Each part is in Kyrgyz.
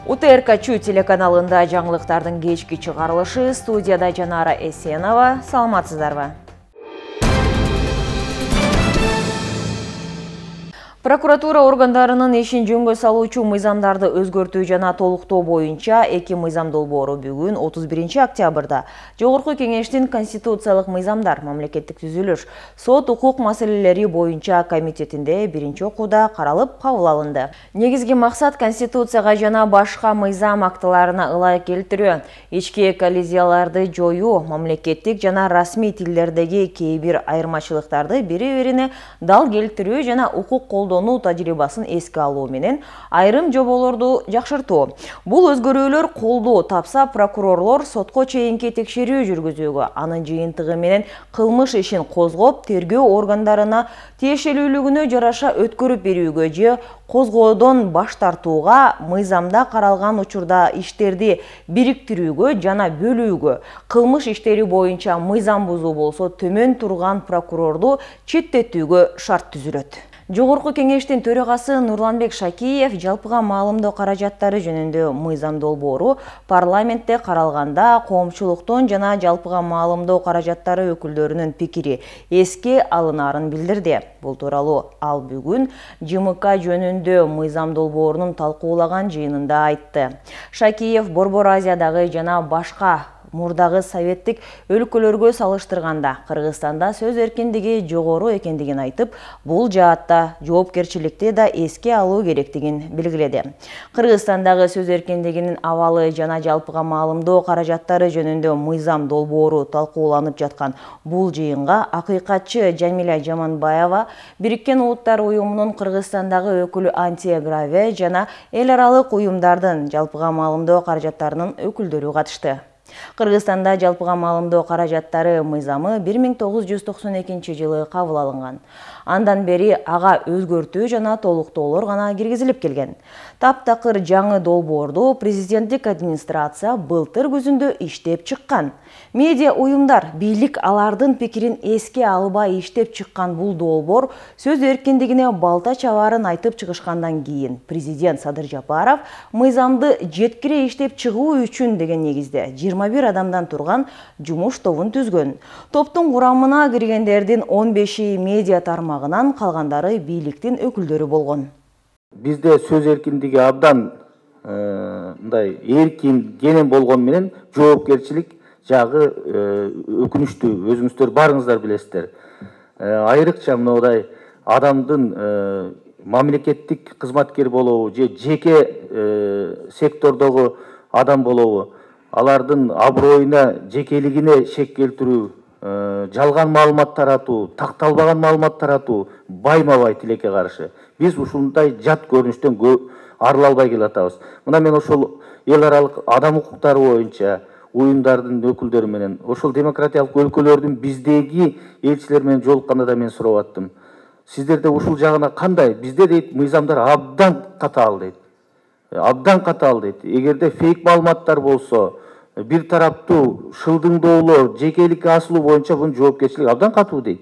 УТРК телеканалында жаңылыктардын кечки чыгарылышы, студияда Жанара Эсенова. Саламатсыздарбы? Прокуратура органдарынын ишин жөнгө салуучу мыйзамдарды өзгөртүү жана толуктоо боюнча 2 мыйзам долбоору бүгүн 31 октябрда Жогорку Кеңештин Конституциялык мыйзамдар, мамлекеттик түзүлүш, сот укук маселелери боюнча комитетинде биринчи окууда каралып кабыл алынды. Негизги максат Конституцияга жана башка мыйзам актыларына ылайык келтирүү, ички коллизияларды жоюу, мамлекеттик жана расмий тилдердеги кээ бир айырмачылыктарды бири-бирине дал келтирүү жана укук колдонуу тажрыйбасын эске алуу менен айрым жоболорду жакшыртуу. Бул өзгөрүүлөр колдоо тапса, прокурорлор сотко чейинки текшерүү жүргүзүүгө, анын жыйынтыгы менен кылмыш ишин козгоп, тергөө органдарына тиешелүүлүгүнө жараша өткөрүп берүүгө же козгоодон баш тартууга, мыйзамда каралган учурда иштерди бириктирүүгө жана бөлүүгө, кылмыш иштери боюнча мыйзам бузуу болсо төмөн турган прокурорду четтетүүгө шарт түзүлөт. Жогорку Кеңештин төрагасы Нурланбек Шакиев жалпыга маалымдоо каражаттары жөнүндө мыйзам долбоору парламентте каралганда коомчулуктун жана жалпыга маалымдоо каражаттары өкүлдөрүнүн пикири эске алынаарын билдирди. Бул тууралуу ал бүгүн ЖМК жөнүндө мыйзам долбоорунун талкуулаган жыйынында айтты. Шакиев Борбор Азиядагы жана башка мурдагы советтик өлкөлөргө салыштырганда Кыргызстанда сөз эркиндиги жогору экендигин айтып, бул жаатта жоопкерчиликти да эске алуу керектигин белгиледи. Кыргызстандагы сөз эркиндигинин абалы жана жалпыга маалымдоо каражаттары жөнүндө мыйзам долбоору талкууланып жаткан бул жыйынга акыйкатчы Жамиля Жаманбаева, Бириккен Улуттар уюмунун Кыргызстандагы өкүлү Антия Граве жана эл аралык уюмдардын жалпыга маалымдоо каражаттарынын өкүлдөрү катышты. Кыргызстанда жалпыга маалымдоо каражаттары мыйзамы 1992 жылы кабыл алынган. Андан бери ага өзгөртүү жана толуктоолор гана киргизилип келген. Таптакыр жаңы долбоорду президенттик администрация былтыр күзүндө иштеп чыккан. Медиа уюмдар, бийлик алардын пикирин эске албай иштеп чыккан бул долбоор сөз эркиндигине балта чабаарын айтып чыгышкандан кийин президент Садыр Жапаров мыйзамды жеткире иштеп чыгуу үчүн деген негизде 21 адамдан турган жумуш тобун түзгөн. Топтун курамына киргендердин 15-и медиа тармагынан, калгандары бийликтин өкүлдөрү болгон. Бизде сөз эркиндиги абдан мындай эркин, кенен болгон менен жоопкерчилик жагы өкүнүчтүү, өзүңүздөр барыңыздар билесиздер. Айрыкча мындай адамдын мамлекеттик кызматкер болобу же жеке сектордогу адам болобу, алардын аброюна, жекелигине шек келтирүү, жалган маалымат таратуу, такталбаган маалымат таратуу байма-бай тилекке каршы. Биз ушундай жат көрүнүштөн арыла албай келатабыз. Мына мен ошол эл аралык адам укуктары боюнча уюмдардын өкүлдөрү менен, ошол демократиялык өлкөлөрдүн биздеги элчилер менен жолукканда да мен сурап аттым. Сиздерде ушул жагына кандай? Бизде дейт мыйзамдар абдан катаал дейт. Абдан катаал дейт. Эгерде фейк маалыматтар болсо, бир тараптуу шылдыңдоолор, жекеликке асылуу боюнча бунун жоопкерчилиги абдан катуу дейт.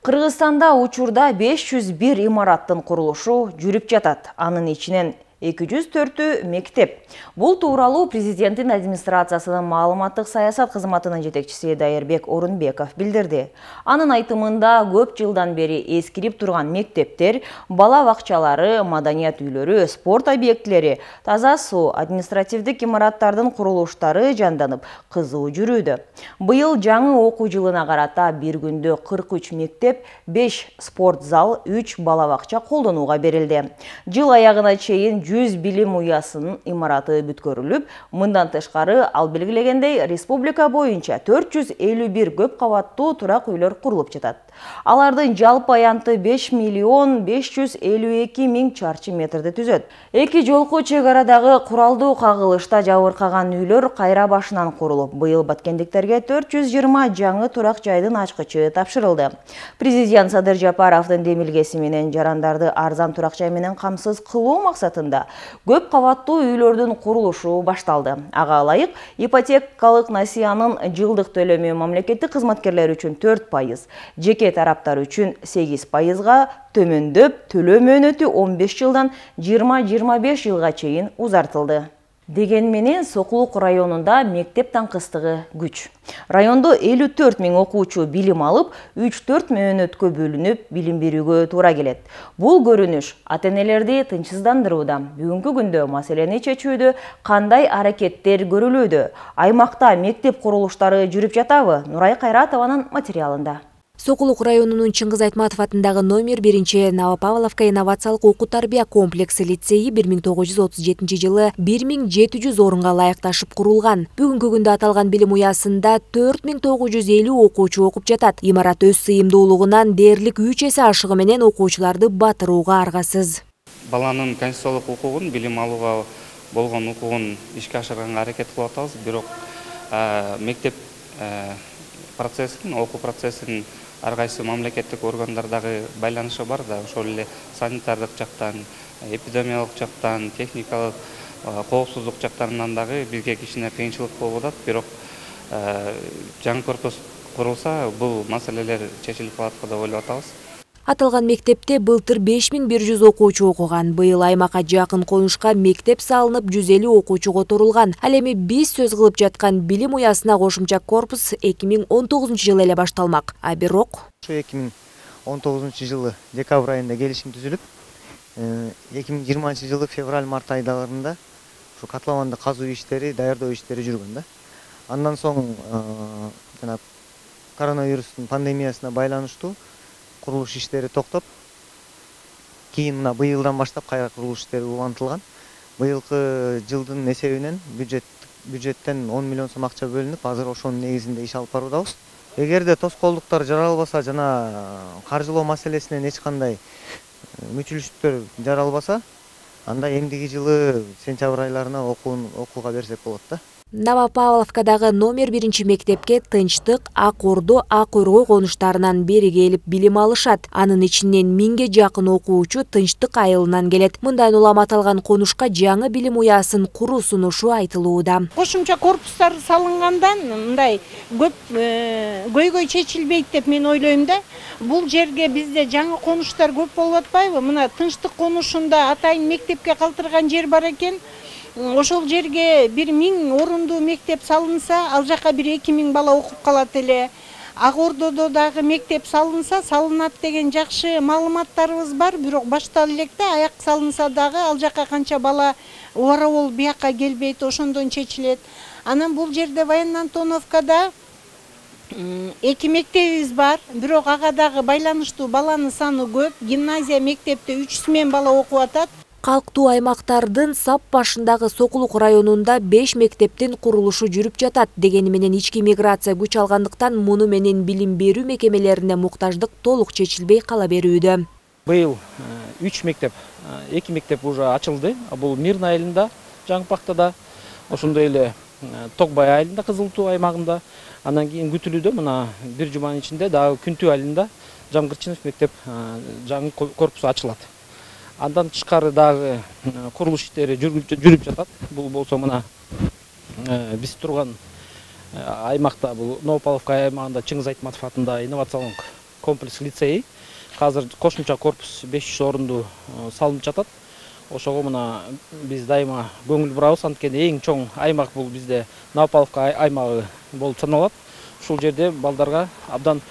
Кыргызстанда учурда 501 имараттын курулушу жүрүп жатат. Анын ичинен 204 мектеп. Бул тууралуу президенттин администрациясынын маалыматтык саясат кызматынын жетекчиси Дайырбек Орунбеков билдирди. Анын айтымында көп жылдан бери эскирип турган мектептер, бала бакчалары, маданият үйлөрү, спорт объектилери, таза суу, административдик имараттардын курулуштары жанданып, кызуу жүрүүдө. Быйыл жаңы окуу жылына карата бир күндө 43 мектеп, 5 спорт зал, 3 бала бакча колдонууга берилди. Жыл аягына чейин 100 билим уясынын имараты бүткөрүлүп, мындан тышкары ал белгилегендей республика боюнча 451 көп кабаттуу турак үйлөр курулуп жатат. Алардын жалпы аянты 5 миллион 552 миң чарчы метрди түзөт. Эки жолку чек арадагы куралдуу кагылышта жабыркаган үйлөр кайра башынан курулуп, быйыл баткендиктерге 420 жаңы турак жайдын ачкычы тапшырылды. Президент Садыр Жапаровдун демилгеси менен жарандарды арзан турак жай менен камсыз кылуу максатында көп кабаттуу үйлөрдүн курулушу башталды. Ага ылайык ипотекалык насыянын жылдык төлөмү мамлекеттик кызматкерлер үчүн 4%, жеке жеке тараптар үчүн 8%, төмөндөп төлөө мөөнөтү 15 жылдан 20-25 жылга чейин узартылды. Деген менен Сокулук районунда мектеп таңкыстыгы күч. Райондо 54 000 окуучу билим алып, 3-4 мөөнөткө бөлүнүп билим берүүгө туура келет. Бул көрүнүш ата-энелерди тынчсыздандырууда. Бүгүнкү күндө маселени чечүүдө кандай аракеттер көрүлүүдө? Аймакта мектеп курулуштары жүрүп жатабы? Нурай Кайратованын материалында. Сокулук районунун Чыңгыз Айтматов атындагы номер 1 Новопавловка инновациялык окуу тарбия комплекси лицейи 1937 жылы 1700 орунга ылайыкташып курулган. Бүгүнкү күндө аталган билим уясында 4950 окуучу окуп жатат. Имарат өз сыйымдуулугунан дээрлик 3 эсе ашыгы менен окуучуларды батырууга аргасыз. Баланын конституциялык укугун, билим алууга болгон укугун ишке ашырганга аракет кылып атабыз. Бирок мектеп процессин, окуу процессин ар кайсы мамлекеттик органдардагы байланышы бар да, ошол эле санитардык жактан, эпидемиялык жактан, техникалык коопсуздук жактарынан дагы бизге кичине кыйынчылык болуп атат. Бирок жаңы корпус курулса, бул маселелер чечилип калат деп ойлоп атабыз. Аталган мектепте былтыр 5100 окуучу окуган. Быйыл аймакка жакын конушка мектеп салынып 150 окуучу которулган. Ал эми биз сөз кылып жаткан билим уясына кошумча корпус 2019 жылы эле башталмак. А бирок 2019 жылы декабрь айында келишим түзүлүп, 2020 жылы февраль-март айларында ушу котлованды казуу иштери, даярдоо иштери жүргөн да. Андан соң жана коронавирустун пандемиясына байланыштуу курулуш иштери токтоп, кийин мына быйылдан баштап кайра курулуш иштери улантылган. Быйылкы жылдын эсебинен бюджеттен 10 миллион сом акча бөлүнүп, азыр ошонун негизинде иш алып баруудабыз. Эгерде тоскоолдуктар жаралбаса жана каржылоо маселесинен эч кандай мүчүлүштөр жаралбаса, анда эмдиги жылы сентябрь айларына окууга берсек болот да. Новопавловкадагы номер 1 мектепке Тынчтык, Ак Ордо, Ак Өргөй конуштарынан бери келип билим алышат. Анын ичинен 1000ге жакын окуучу Тынчтык айылынан келет. Мындан улам аталган конушка жаңы билим уясын куруу сунушу айтылууда. Кошумча корпустар салынгандан мындай көп көйгөй чечилбейт деп мен ойлойм да. Бул жерге бизде жаңы конуштар көп болуп атпайбы? Мына Тынчтык конушунда атайын мектепке калтырган жер бар экен. Ошол жерге 1000 орундуу мектеп салынса, ал жака 2000 бала окуп калат эле. Ак Ордодо дагы мектеп салынса, салынат деген жакшы маалыматтарыбыз бар, бирок баштала элек да, аяк салынса дагы ал жака канча бала убара болуп бияка келбейт, ошондон чечилет. Анан бул жерде Военно Антоновкада 2 мектебибиз бар, бирок ага дагы байланыштуу баланын саны көп. Гимназия мектепте 300 мен бала окуп атат. Калктуу аймактардын сап башындагы Сокулук районунда 5 мектептин курулушу жүрүп жатат. Дегени менен ички миграция күч алгандыктан муну менен билим берүү мекемелерине муктаждык толук чечилбей кала берүүдө. Быйыл 3 мектеп, 2 мектеп уже ачылды. Бул Мирный айылында, Жаңпактада, ошондой эле Токбай айылында, Кызыл Туу аймагында. Андан кийин күтүлүүдө мына бир жуманын ичинде дагы Күнтүү айылында Жамгырчинов мектеп жаңы корпусу ачылат. Андан тышкары дагы курулуш иштери жүрүп жатат. Бул болсо мына биз турган аймакта, бул Новопавловка аймагында Чыңгыз Айтматов атындагы инновациялык комплекс лицейи. Азыр кошумча корпус 500 орундуу салынып жатат. Ошого мына биз дайыма көңүл бурабыз, анткени эң чоң аймак бул бизде Новопавловка аймагы болуп саналат. Ушул жерде балдарга абдан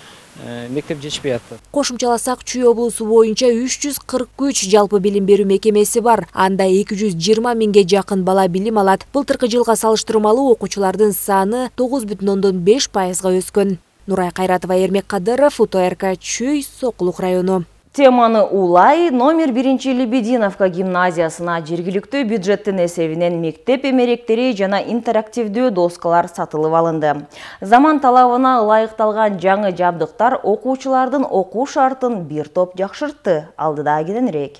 мектеп жетишпей атты. Кошумчаласак, Чүй облусу боюнча 343 жалпы билим берүү мекемеси бар. Анда 220 000ге жакын бала билим алат. Былтыркы жылга салыштырмалуу окуучулардын саны 9,5%га өскөн. Нурай Кайратова, Эрмек Кадыров, УТРК, Чүй, Сокулук району. Теманы улай номер 1 Лебединовка гимназиясына жергиликтүү бюджеттин эсебинен мектеп эмеректери жана интерактивдүү доскалар сатылып алынды. Заман талабына ылайыкталган жаңы жабдыктар окуучулардын окуу шартын бир топ жакшыртты. Алдыда кененирээк.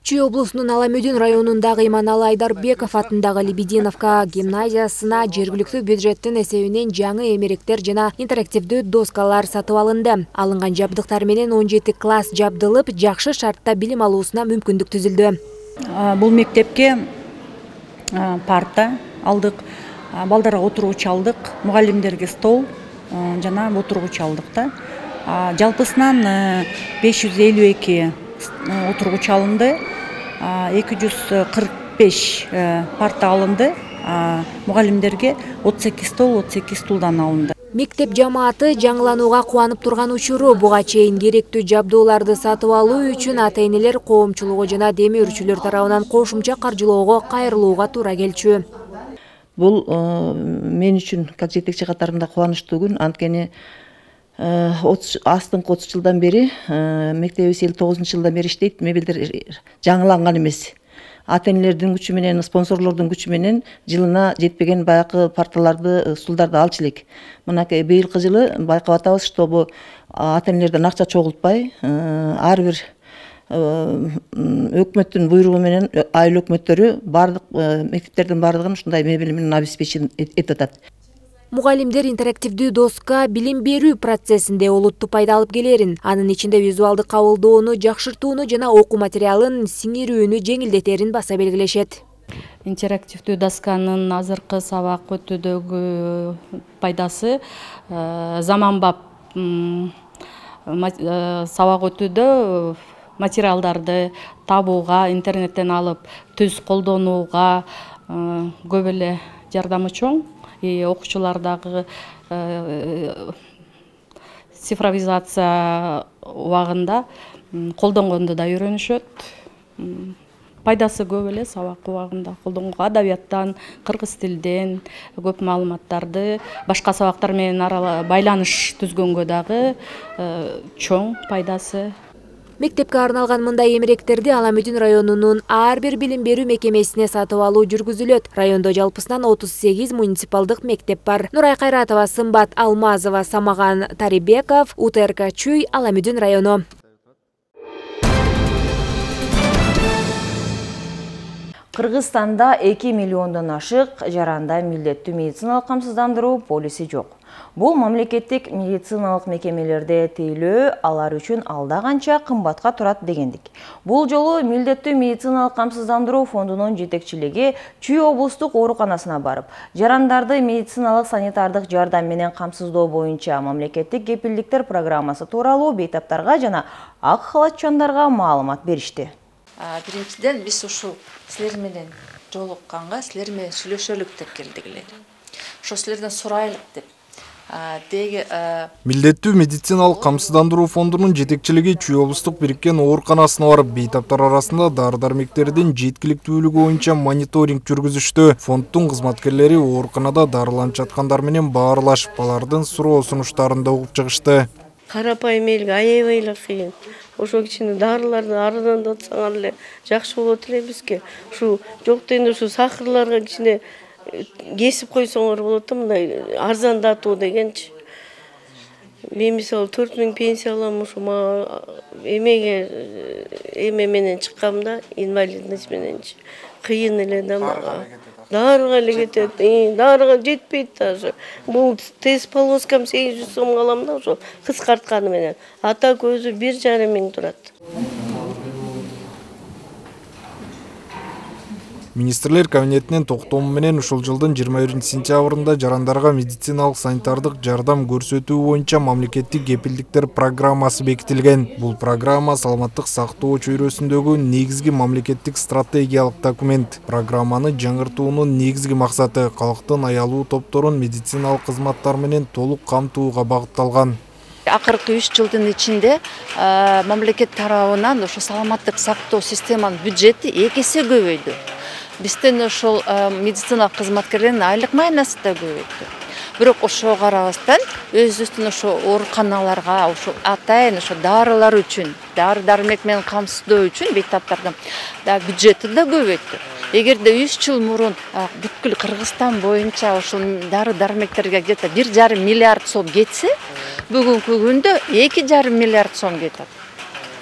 Чүй облусунун Аламөдүн районундагы Иманалы Айдарбеков атындагы Лебединовка гимназиясына жергиликтүү бюджеттин эсебинен жаңы эмеректер жана интерактивдүү доскалар сатып алынды. Алынган жабдыктар менен 17 класс жабдылып, жакшы шартта билим алуусуна мүмкүндүк түзүлдү. Бул мектепке парта алдык, балдарга отургуч алдык, мугалимдерге стол жана отургуч алдык да. Жалпысынан 552 отургуч алынды, 245 парта алынды, мугалимдерге 38 стулдан алынды. Мектеп жамааты жаңыланууга кубанып турган учуру. Буга чейин керектүү жабдууларды сатып алуу үчүн ата-энелер коомчулугу жана демирүүчүлөр тарабынан кошумча каржылоого кайрылууга туура келчү. Бул мен үчүн как жетекчи катарында кубанычтуу күн. Анткени астыңкы 30 жылдан бери, мектебибиз 59-жылдан бери иштейт. Мебелдер жаңыланган эмес. Ата-энелердин күчү менен, спонсорлордун күчү менен жылына жетпеген баягы парталарды, стулдарды алчу элек. Мынакей быйылкы жылы байкап атабыз, чтобы ата-энелерден акча чогултпай, ар бир өкмөттүн буйругу менен айыл өкмөттөрү бардык мектептердин бардыгын ушундай мебель менен обеспечен этип атат. Мугалимдер интерактивдүү доска билим берүү процессинде олуттуу пайда алып келерин, анын ичинде визуалдык кабылдоону жакшыртууну жана окуу материалын сиңирүүнү жеңилдетерин баса белгилешет. Интерактивдүү досканын азыркы сабак өтүүдөгү пайдасы заманбап сабак өтүүдө материалдарды табууга, интернеттен алып түз колдонууга көп эле жардамы чоң. Окуучулардагы цифровизация убагында колдонгонду да үйрөнүшөт. Пайдасы көп эле сабак убагында колдонгонго, адабияттан, кыргыз тилден көп маалыматтарды башка сабактар менен байланыш түзгөнгө дагы чоң пайдасы. Мектепке арналган мындай эмеректерди Аламүдүн районунун ар бир билим берүү мекемесине сатып алуу жүргүзүлөт. Райондо жалпысынан 38 муниципалдык мектеп бар. Нурай Кайратова, Сымбат Алмазова, Самаган Тарибеков, УТРК Чүй, Аламүдүн району. Кыргызстанда 2 миллиондон ашык жаранда милдеттүү медициналык камсыздандыруу полиси жок. Бул мамлекеттик медициналык мекемелерде тейлөө алар үчүн алда канча кымбатка турат дегендик. Бул жолу милдеттүү медициналык камсыздандыруу фондунун жетекчилиги Чүй облустук ооруканасына барып, жарандарды медициналык санитардык жардам менен камсыздоо боюнча мамлекеттик кепилдиктер программасы тууралуу бейтаптарга жана ак халатчандарга маалымат беришти. Биринчиден биз ушул силер менен жолукканга силер менен сүйлөшөлүк деп келдик эле. Ошо силерден сурайлык деп. Милдеттүү медициналык камсыздандыруу фондунун жетекчилиги Чүй облустук бириккен ооруканасына барып, бейтаптар арасында дары-дармектердин жеткиликтүүлүгү боюнча мониторинг жүргүзүштү. Фонддун кызматкерлери ооруканада дарыланып жаткандар менен баарлашып, алардын суроо сунуштарын да угуп чыгышты. Карапайым элге аябай эле кыйын. Ошо кичине дарыларды арзандатсаңар эле жакшы болот эле бизге. Ушу жок дегенде ушу сахарларга кичине кесип койсоңор болот да, мындай арзандатуу дегенчи. Мен мисалы 4000 пенсия алам, ушу мага эме менен чыккам да, инвалидность мененчи. Кыйын эле да мага. Дарыга эле кетет, дарыга жетпейт даже. Бул тест полоскам 800 сом алам да, ошо кыскартканы менен. Ата көзү 1,5 миң турат. Министрлер кабинетинин токтому менен ушул жылдын 21-сентябрында жарандарга медициналык санитардык жардам көрсөтүү боюнча мамлекеттик кепилдиктер программасы бекитилген. Бул программа саламаттык сактоо чөйрөсүндөгү негизги мамлекеттик стратегиялык документ. Программаны жаңыртуунун негизги максаты калктын аялуу топторун медициналык кызматтар менен толук камтууга багытталган. Акыркы 3 жылдын ичинде мамлекет тарабынан ошо саламаттык сактоо системанын бюджети 2 эсе көбөйдү. Бизден ошол медициналык кызматкерлердин айлык майнасы да көбөйдү. Бирок ошого карабастан өзүбүздүн ошо ооруканаларга, ошо атайын ошо дарылар үчүн, дары-дармек менен камсыздоо үчүн бейтаптардын да бюджети да көбөйдү. Эгерде 3 жыл мурун бүткүл Кыргызстан боюнча ошол дары-дармектерге где-то 1,5 миллиард сом кетсе, бүгүнкү күндө 2,5 миллиард сом кетет.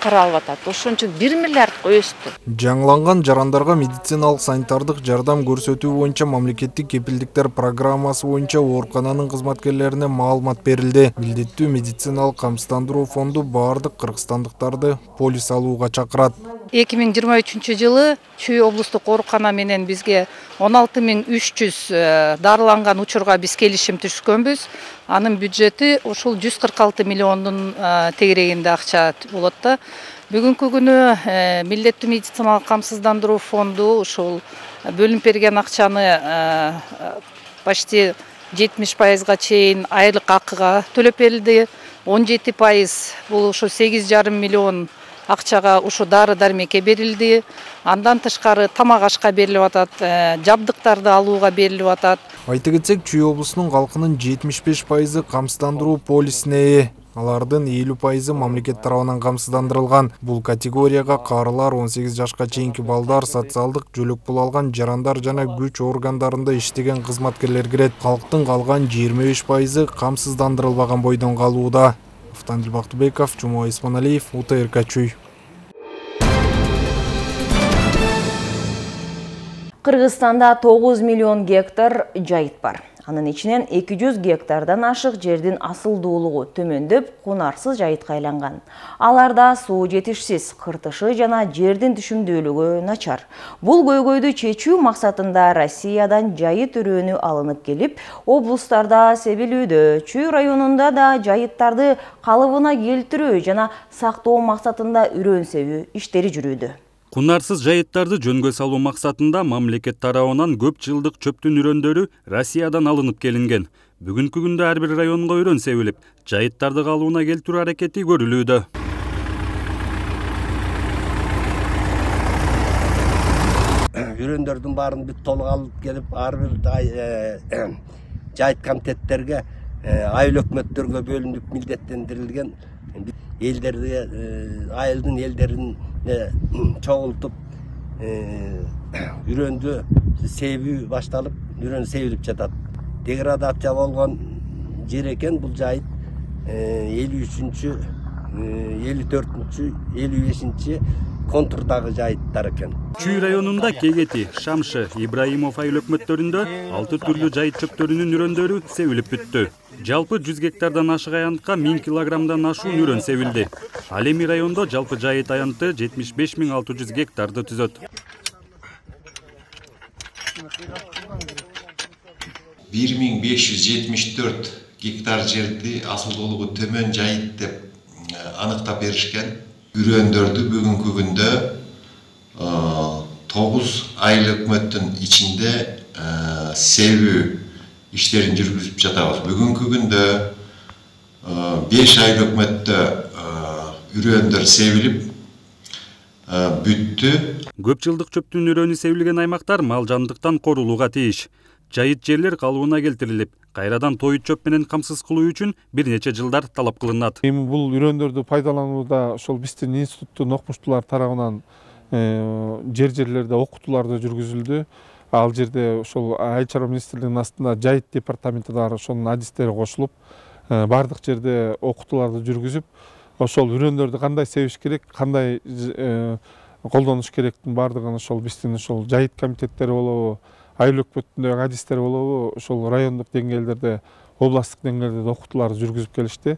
Каралып атат. Ошон үчүн 1 миллиардга өстү. Жаңыланган жарандарга медициналык санитардык жардам көрсөтүү боюнча мамлекеттик кепилдиктер программасы боюнча оорукананын кызматкерлерине маалымат берилди. Милдеттүү медициналык камсыздандыруу фонду баардык кыргызстандыктарды полис алууга чакырат. 2023 жылы Чүй облустук оорукана менен бизге 16.300 дарыланган учурга биз келишим түзгөнбүз. Анын бюджети ушул 146 миллиондун тегерегинде акча болот да. Бүгүнкү күнү милдеттүү медициналык камсыздандыруу фонду ушул бөлүнүп берген акчаны почти 70%га чейин айлык акыга төлөп берилди. 17% бул ушу 8,5 миллион акчага ушу дары дармекке берилди. Андан тышкары тамак ашка берилип атат, жабдыктарды алууга берилип атат. Айта кетсек, Чүй облусунун калкынын 75% камсыздандыруу полисине ээ. Алардын 50% мамлекет тарабынан камсыздандырылган. Бул категорияга карылар, 18 жашка чейинки балдар, социалдык жөлөк пул алган жарандар жана күч органдарында иштеген кызматкерлер кирет. Калктын калган 25% камсыздандырылбаган бойдон калууда. Автандил Бактыбеков, Жумой Исманалиев, УТРК Чүй. Кыргызстанда 9 миллион гектар жайыт бар. Анын ичинен 200 гектардан ашык жердин асылдуулугу төмөндөп, кунарсыз жайытка айланган. Аларда суу жетишсиз, кыртышы жана жердин түшүмдүүлүгү начар. Бул көйгөйдү чечүү максатында Россиядан жайыт үрөөнү алынып келип, облустарда себилүүдө. Чүй районунда да жайыттарды калыбына келтирүү жана сактоо максатында үрөөн себүү иштери жүрүүдө. Кунарсыз жайыттарды жөнгө салуу максатында мамлекет тарабынан көп жылдык чөптүн үрөндөрү Россиядан алынып келинген. Бүгүнкү күндө ар бир районго үрөн себилип, жайыттарды калыбына келтирүү аракети көрүлүүдө. Үрөндөрдүн баарын бүт толук алып келип, ар бир жайыт комитеттерге, айыл өкмөттөргө бөлүнүп милдеттендирилген элдерди, айылдын элдерин чогултуп үрөндү себүү башталып, үрөн себилип жатат. Деградация болгон жер экен бул жайыт 53-чү, 54-чү, 55-чи контурдагы жайыттар экен. Чүй районунда Кегети, Шамшы, Ибраимов айыл өкмөттөрүндө 6 түрлүү жайыт чөптөрүнүн үрөндөрү себилип бүттү. Жалпы 100 гектардан ашык аянтка 1000 килограммдан ашуун үрөн себилди. Ал эми райондо жалпы жайыт аянты 75.600 гектарды түзөт. 1574 гектар жерди асылдуулугу төмөн жайыт деп аныктап беришкен. Үрөндөрдү бүгүнкү күндө 9 айыл өкмөттүн ичинде себүү иштерин жүргүзүп жатабыз. Бүгүнкү күндө 5 айыл өкмөттө үрөндөр себилип бүттү. Көп жылдык чөптүн үрөнү себилген аймактар мал жандыктан корулууга тийиш. Жайыт жерлер калыбына келтирилип, кайрадан тоют чөп менен камсыз кылуу үчүн бир нече жылдар талап кылынат. Эми бул үрөндөрдү пайдаланууда ошол биздин институттун окумуштуулары тарабынан жерлерде окутууларды жүргүзүлдү. Ал жерде ошол Айыл чарба министрлигинин астында жайыт департаменти бар, ошонун адистери кошулуп, бардык жерде окутууларды жүргүзүп, ошол үрөндөрдү кандай себиш керек, кандай колдонуш керектин бардыгын ошол биздин ошол жайыт комитеттери болобу, айыл өкмөтүндөгү адистер болобу, ошол райондук деңгээлдерде, областтык деңгээлде окутууларды жүргүзүп келишти.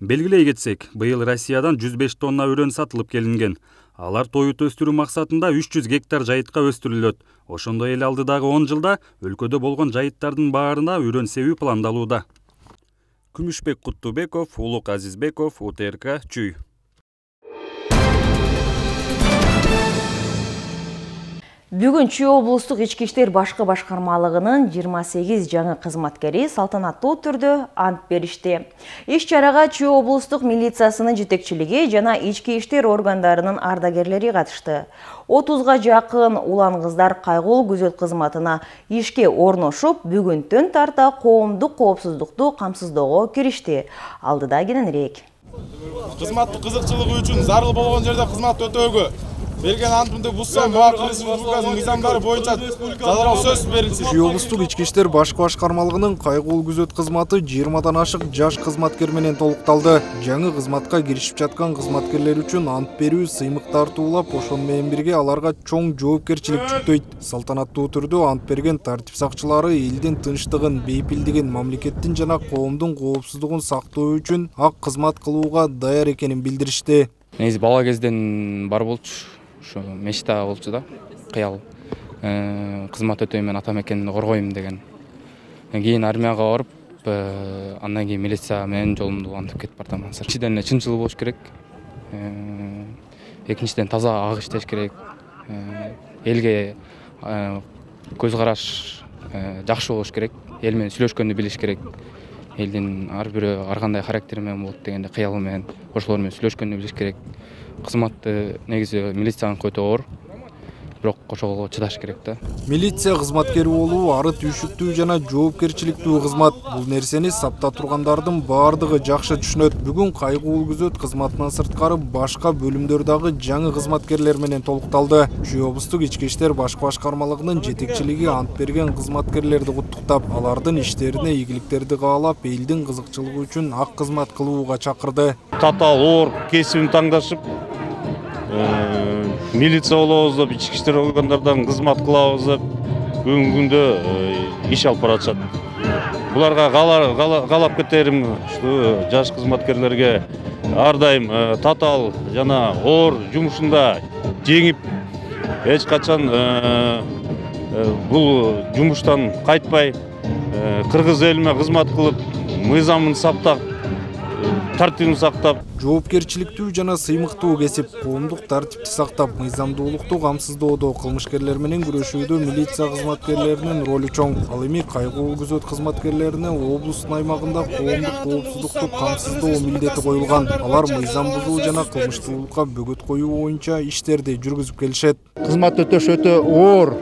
Белгилей кетсек, быйыл Россиядан 105 тонна үрөн сатылып келинген. Алар тоют өстүрүү максатында 300 гектар жайытка өстүрүлөт. Ошондой эле алдыдагы 10 жылда өлкөдө болгон жайыттардын баарына үрөн себүү пландалууда. Күмүшбек Куттубеков, Улук Азизбеков, УТРК Чүй. Бүгүн Чүй облустук ички иштер башкы башкармалыгынын 28 жаңы кызматкери салтанаттуу түрдө ант беришти. Иш чарага Чүй облустук милициясынын жетекчилиги жана ички иштер органдарынын ардагерлери катышты. 30га жакын улан кыздар кайгылуу күзөт кызматына ишке орношуп, бүгүнтөн тарта коомдук коопсуздукту камсыздоого киришти. Алдыда кененирээк. Кызматтык кызыкчылыгы үчүн зарыл болгон жерде кызмат өтөөгө берген антымды бузса, Кыргыз Республикасынын мыйзамдары боюнча жазалоо сөз берилсин. Чүй облустук ички иштер башкы башкармалыгынын кайгылуу күзөт кызматы 20дан ашык жаш кызматкер менен толукталды. Жаңы кызматка киришип жаткан кызматкерлер үчүн ант берүү, сыймык тартуулап, ошону менен бирге аларга чоң жоопкерчилик жүктөйт. Салтанаттуу түрдө ант берген тартип сакчылары элдин тынчтыгын, бейпилдигин, мамлекеттин жана коомдун коопсуздугун сактоо үчүн ак кызмат кылууга даяр экенин билдиришти. Негизи бала кезден бар болчу. ушу мечта болчу да, кыял. Кызмат өтөймүн, ата мекенди коргойм деген. Кийин армияга барып, андан кийин милиция менен жолумду улантып кетип бартам. Биринчиден эле чынчыл болуш керек. Экинчиден таза ак иштеш керек. Элге көз караш жакшы болуш керек. Эл менен сүйлөшкөндү билиш керек. Элдин ар бирөө ар кандай характери менен болот дегенде кыялы менен ошолор менен сүйлөшкөндү билиш керек. Кызматты негизи милицияныкы өтө оор. Бирок ошого чыдаш керек да. Милиция кызматкери болуу ары түйшүктүү жана жоопкерчиликтүү кызмат. Бул нерсени сапта тургандардын баардыгы жакшы түшүнөт. Бүгүн кайгылуу күзөт кызматынан сырткары башка бөлүмдөр дагы жаңы кызматкерлер менен толукталды. Чүй облустук ички иштер баш башкармалыгынын жетекчилиги ант берген кызматкерлерди куттуктап, алардын иштерине ийгиликтерди каалап, элдин кызыкчылыгы үчүн ак кызмат кылууга чакырды. Татаал оор кесибин таңдашып, милиция болобуз деп, ички иштер органдардан кызмат кылабыз деп бүгүнкү күндө иш алып баратышат. Буларга каалап кетерим, жаш кызматкерлерге ар дайым татаал жана оор жумушунда жеңип, эч качан бул жумуштан кайтпай, кыргыз элине кызмат кылып, мыйзамын сактап, тартибин сактап, жоопкерчиликтүү жана сыймыктуу кесип, коомдук тартипти сактап, мыйзамдуулукту камсыздоодо, кылмышкерлер менен күрөшүүдө милиция кызматкерлеринин ролу чоң. Ал эми кайгылуу күзөт кызматкерлерине облустун аймагында коомдук коопсуздукту камсыздоо милдети коюлган. Алар мыйзам бузуу жана кылмыштуулукка бөгөт коюу боюнча иштерди жүргүзүп келишет. Кызмат өтөш өтө оор.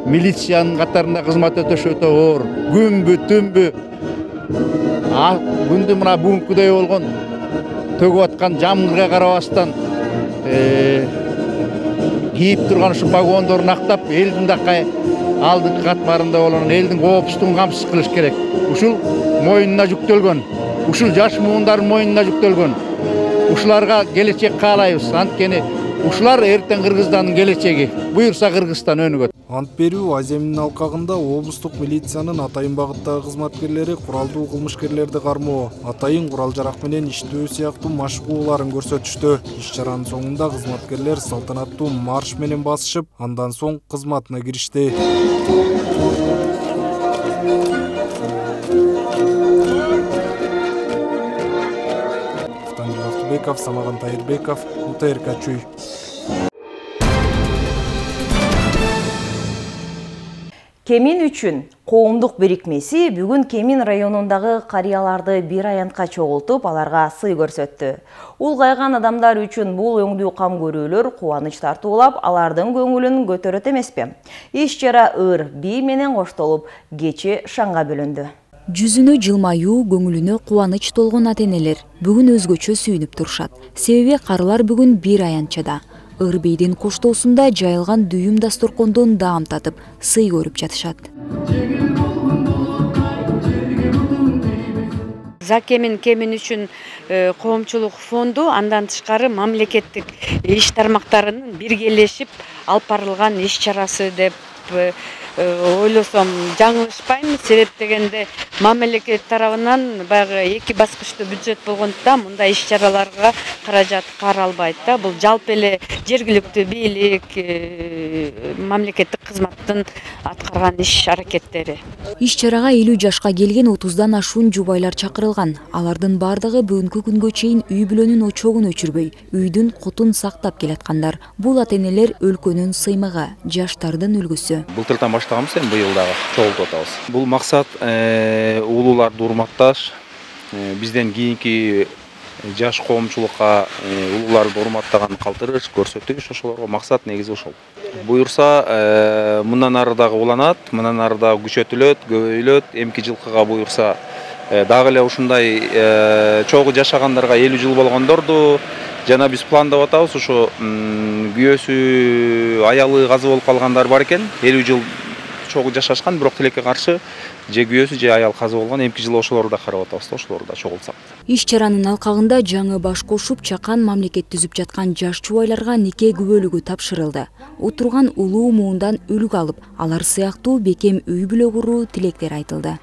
Милициянын катарында кызмат өтөш өтө оор. Күнбү, түнбү күндү мына бүгүнкүдөй болгон төгүп аткан жамгырга карабастан кийип турган ушу погондорун актап, элдин дакы алдыңкы катмарында болгон элдин коопсуздугун камсыз кылыш керек. Ушул мойнуна жүктөлгөн, ушул жаш муундардын мойнуна жүктөлгөн. Ушуларга келечек каалайбыз. Анткени ушулар эртең Кыргызстандын келечеги. Буюрса Кыргызстан өнүгөт. Ант берүү Аземинин алкагында облустук милициянын атайын багыттагы кызматкерлери куралдуу кылмышкерлерди кармоо, атайын курал-жарак менен иштөө сыяктуу машыгууларын көрсөтүштү. Иш-чаранын соңунда кызматкерлер салтанаттуу марш менен басышып, андан соң кызматына киришти. Ақтыбеков, Самаган Тайырбеков, УТРК Чүй. Кемин үчүн коомдук бирикмеси бүгүн Кемин районундагы карыяларды бир аянтка чогултуп, аларга сый көрсөттү. Улгайган адамдар үчүн бул өңдүү кам көрүүлөр кубаныч тартуулап, алардын көңүлүн көтөрөт эмеспи? Иш-чара ыр бий менен коштолуп, кечи шаңга бөлүндү. Жүзүнө жылмаюу, көңүлүнө кубаныч толгон ата-энелер бүгүн өзгөчө сүйүнүп турушат. Себеби карылар бүгүн бир аянтчада. Ыр бейдин коштоосунда жайылган дүйүм дасторкондон даам татып, сый көрүп жатышат. Кемин үчүн коомчулук фонду, андан тышкары мамлекеттик иш тармактарынын биргелешип алып барылган иш-чарасы деп ойлосом жаңылышпайм. Себеп дегенде мамлекет тарабынан баягы эки баскычтуу бюджет болгондуктан мындай иш-чараларга каражат каралбайт да. Бул жалпы эле жергиликтүү бийлик, мамлекеттик кызматтын аткарган иш-аракеттери. Иш-чарага 50 жашка келген 30дан ашуун жубайлар чакырылган. Алардын бардыгы бүгүнкү күнгө чейин үй бүлөнүн очогун өчүрбөй, үйдүн кутун сактап келаткандар. Бул ата-энелер өлкөнүн сыймыгы, жаштардын үлгүсү. Былтырдан баштаганбыз, эми быйыл дагы чогултуп атабыз. Бул максат улууларды урматташ, бизден кийинки жаш коомчулукка улууларды урматтаган калтырыш көрсөтүш, ошолорго максат негизи ошол. Буюрса мындан ары дагы уланат, мындан ары дагы күчөтүлөт, көбөйлөт. Эмки жылкыга буюрса дагы эле ушундай чогуу жашагандарга 50 жыл болгондорду жана биз пландап атабыз. Ошо күйөөсү, аялы казы болуп калгандар бар экен. 50 жыл чогуу жашашкан, бирок тилекке каршы же күйөөсү же аял казы болгон. Эмки жылы ошолорду да карап атабыз да, ошолорду да чогултсак. Иш-чаранын алкагында жаңы баш кошуп, чакан мамлекет түзүп жаткан жаш чубайларга нике күбөлүгү тапшырылды. Отурган улуу муундан үлгү алып, алар сыяктуу бекем үй бүлө куруу тилектер айтылды.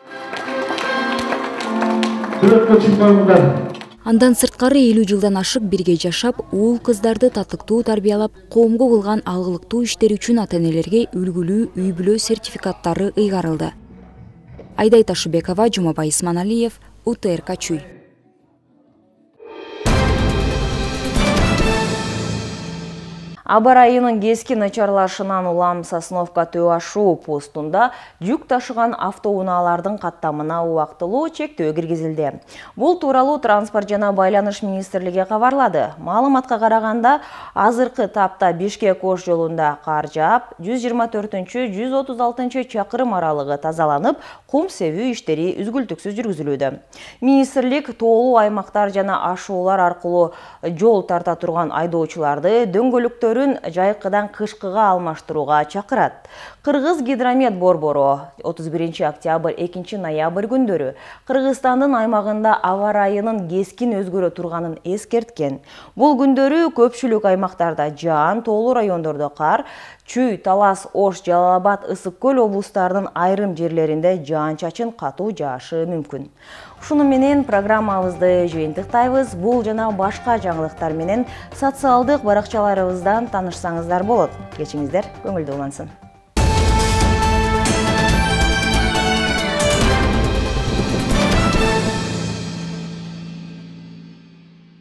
Андан сырткары 50 жылдан ашык бирге жашап, уул кыздарды татыктуу тарбиялап, коомго кылган алгылыктуу иштери үчүн ата-энелерге үлгүлүү үй-бүлө сертификаттары ыйгарылды. Айдай Ташыбекова, Жумабай Исманалиев, УТРК Чүй. Аба районунун кесkin начарлашынан улам Сосновка Төө ашуу постунда жүк ташыган автоунаалардын каттамына убактылуу чектөө киргизилди. Бул тууралуу Транспорт жана Байланыш министрлиги кабарлады. Маалыматка караганда, азыркы тапта Бишкек-Ош жолунда кар жаап, 124-136 чакырым аралыгы тазаланып, кум себүү иштери үзгүлтүксүз жүргүзүлүүдө. Министрлик тоолуу аймактар жана ашуулар аркылуу жол тарта турган айдоочуларды дөңгөлөктөрүн жайкыдан кышкыга алмаштырууга чакырат. Кыргыз гидромет борбору 31 октябрь 2 ноябрь күндөрү Кыргызстандын аймагында аба райынын кескин өзгөрө турганын эскерткен. Бул күндөрү көпчүлүк аймактарда жаан, тоолуу райондордо кар, Чүй, Талас, Ош, Жалал-Абад, Ысык-Көл облустарынын айрым жерлеринде жаан-чачын катуу жаашы мүмкүн. Ушуну менен программабызды жыйынтыктайбыз. Бул жана башка жаңылыктар менен социалдык баракчаларыбыздан таанышсаңыздар болот. Кечиңиздер көңүлдүү улансын.